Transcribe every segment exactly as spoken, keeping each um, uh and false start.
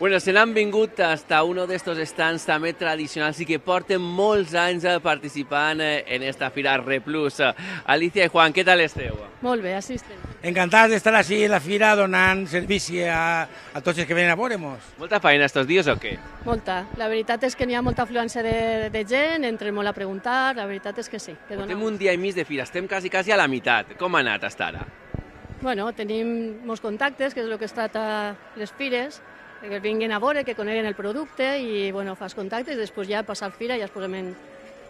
Bueno, se n'han vingut hasta uno d'estos stands també tradicionals i que porten molts anys participant en esta fira Replus. Alicia i Juan, què tal esteu? Molt bé, així estem. Encantats d'estar així a la fira donant servici a, a tots els que venen a veure-mos. Molta feina estos dies o què? Molta. La veritat és que n'hi ha molta afluència de, de gent, entren molt a preguntar, la veritat és que sí. Que Portem dona... un dia i mig de fira, estem quasi, quasi a la meitat. Com ha anat hasta ara? Bueno, tenim molts contactes, que és el que es tracta les fires, que vinguin a veure, que coneguen el producte i, bueno, fas contactes i després ja passar fira ja es posem en...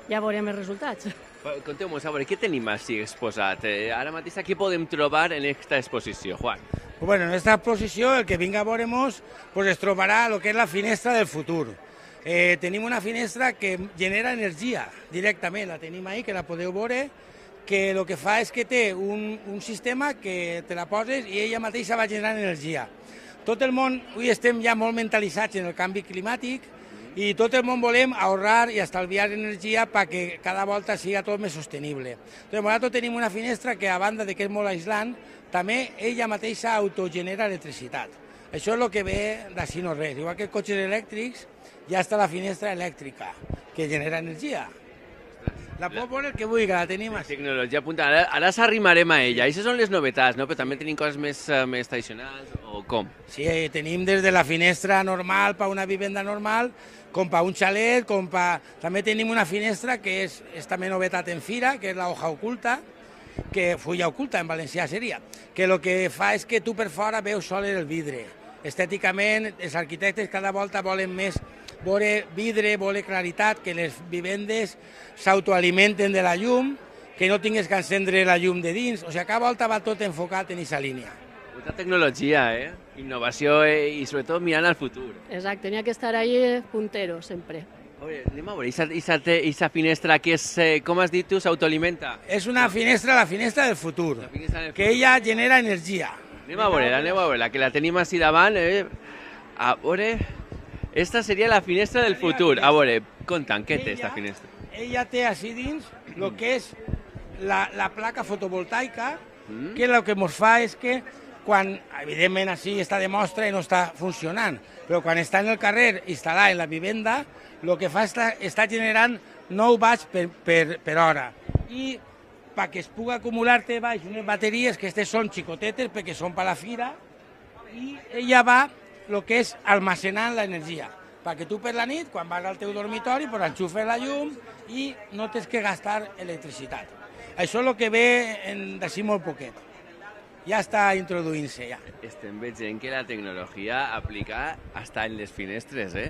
ja veurem els resultats. Conteu-nos, a veure, què tenim així exposat? Eh, ara mateix què podem trobar en aquesta exposició, Juan? Bueno, en aquesta exposició el que vinga a veure-mos pues, es trobarà el que és la finestra del futur. Eh, tenim una finestra que genera energia directament, la tenim ahí, que la podeu veure, que el que fa és que té un, un sistema que te la poses i ella mateixa va generant energia. Tot el món, avui estem ja molt mentalitzats en el canvi climàtic i tot el món volem ahorrar i estalviar energia perquè cada volta siga tot més sostenible. Doncs nosaltres tenim una finestra que, a banda de que és molt aïslant, també ella mateixa autogenera electricitat. Això és el que ve d'ací no res. Igual que els cotxes elèctrics, ja està la finestra elèctrica, que genera energia. La pot veure el que vulgui, que la tenim així. Tecnologia punta. Ara, ara s'arrimarem a ella. Aquestes són les novetats, no? Però també tenim coses més, més tradicionals, o com? Sí, tenim des de la finestra normal per una vivenda normal, com per un xalet, com per... També tenim una finestra que és, és també novetat en fira, que és la hoja oculta, que fulla oculta en valencià seria, que el que fa és que tu per fora veus sol el vidre. Estèticament, els arquitectes cada volta volen més veure vidre, veure claritat, que les vivendes s'autoalimenten de la llum, que no tingues que encendre la llum de dins, o sigui, cada volta va tot enfocat en aquesta línia. Molta tecnologia, eh? Innovació eh? I sobretot mirant al futur. Exacte, n'hi ha que estar ahí puntero, sempre. Oye, anem a veure, aquesta finestra que és, eh, com has dit tu, s'autoalimenta? És una finestra, la finestra del futur, La finestra del que futur. ella genera energia. Anem a veure, anem a veure, que la tenim així davant, eh? A veure... Esta seria la finestra del futur. A veure, contant, què té esta finestra? Ella té així dins el que és la, la placa fotovoltaica, mm. que el que ens fa és que quan, evidentment, així està de mostra i no està funcionant, però quan està en el carrer instal·lat en la vivenda, el que fa està, està generant nou watts per, per, per hora. I perquè es pugui acumular-te baix unes bateries, que aquestes són xicotetes perquè són per la fira, i ella va el que és almacenant l'energia, perquè tu per la nit, quan vas al teu dormitori, pues enxufes la llum i no tens que gastar electricitat. Això és el que ve d'ací molt poquet. Ja està introduint-se, ja. Estem veient que la tecnologia aplica hasta en les finestres, eh?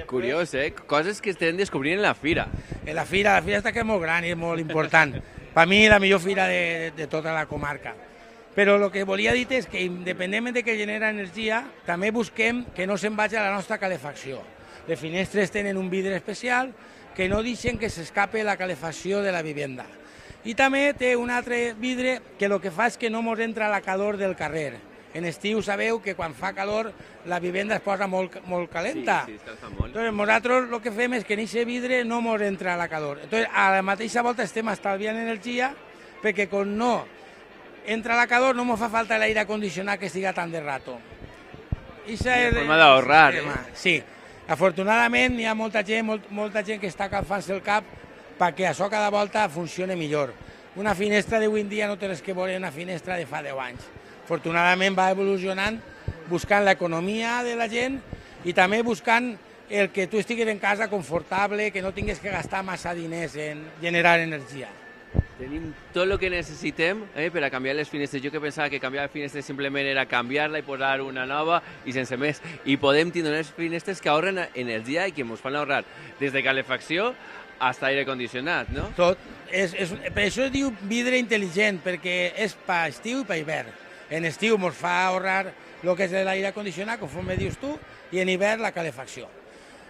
Curiós, eh? Coses que estem descobrint en la fira. En la fira, la fira està que és molt gran i és molt important. Per mi, la millor fira de, de, de tota la comarca. Però el que volia dir és que, independentment de que genera energia, també busquem que no se'n vagi a la nostra calefacció. Les finestres tenen un vidre especial que no deixen que s'escape la calefacció de la vivenda. I també té un altre vidre que el que fa és que no ens entra la calor del carrer. En estiu sabeu que quan fa calor la vivenda es posa molt, molt calenta. Sí, sí, escalfa molt. Entonces, nosaltres el que fem és que en aquest vidre no ens entra la calor. Entonces, a la mateixa volta estem estalviant energia perquè quan no entra la calor, no me fa falta l'aire acondicionat que estiga tant de rato. Una forma d'ahorrar, eh? Sí. Afortunadament hi ha molta gent, molt, molta gent que està calfant-se el cap perquè això cada volta funcione millor. Una finestra d'avui en dia no té res que veure una finestra de fa deu anys. Afortunadament va evolucionant buscant l'economia de la gent i també buscant el que tu estiguis en casa confortable, que no tinguis que gastar massa diners en generar energia. Tenim tot el que necessitem eh, per a canviar les finestres. Jo que pensava que canviar finestres simplement era canviar-la i posar una nova i sense més. I podem tenir unes finestres que ahorren energia i que ens fan ahorrar des de calefacció fins a aire condicionat, no? Tot. És, és, per això es diu vidre intel·ligent, perquè és per estiu i per hivern. En estiu ens fa ahorrar el que és l'aire condicionat, conforme dius tu, i en hivern la calefacció.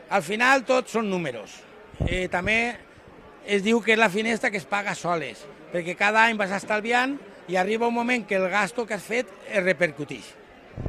Al final tot són números. Eh, també es diu que és la finestra que es paga soles, perquè cada any vas estalviant i arriba un moment que el gasto que has fet es repercuteix.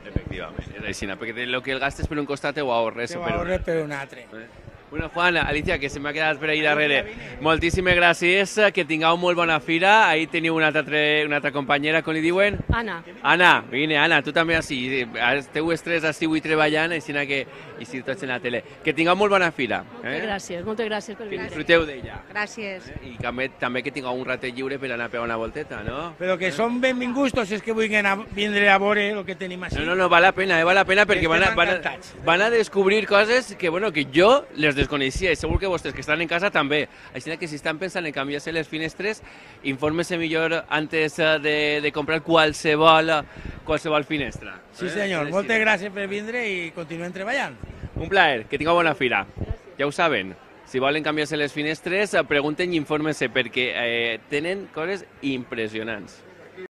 Efectivament, és així, perquè el que el gastes per un costat ho ahorres Te ho per un ahorres altre. per un altre. Eh? Bueno, Juan, Alicia, que se m'ha quedat per ahí darrere. Moltíssimes gràcies, que tingueu molt bona fira. Ahí teniu una altra, una altra companyera, com li diuen? Anna. Anna, vine, Anna, tu també així. Esteu els tres així avui treballant, així que i si tots en la tele. Que tingueu molt bona fira. Moltes gràcies, moltes gràcies per Que venir. disfruteu d'ella. Gràcies. I també, també que tingueu un ratet lliure per anar a pegar una volteta, no? Però que són benvinguts tots els que vulguin a, vindre a veure el que tenim així. No, no, no, val la pena, eh, val la pena perquè van a, van, a, van a descobrir coses que, bueno, que jo les desconeixia i segur que vostès que estan en casa també. Així que si estan pensant en canviar-se les finestres, infórmese millor antes de, de comprar qualsevol, qualsevol finestra. Sí senyor, moltes gràcies per vindre i continuem treballant. Un plaer, que tingueu bona fira. Ja ho saben, si volen canviar-se les finestres, pregunten i infórmense perquè eh, tenen coses impressionants.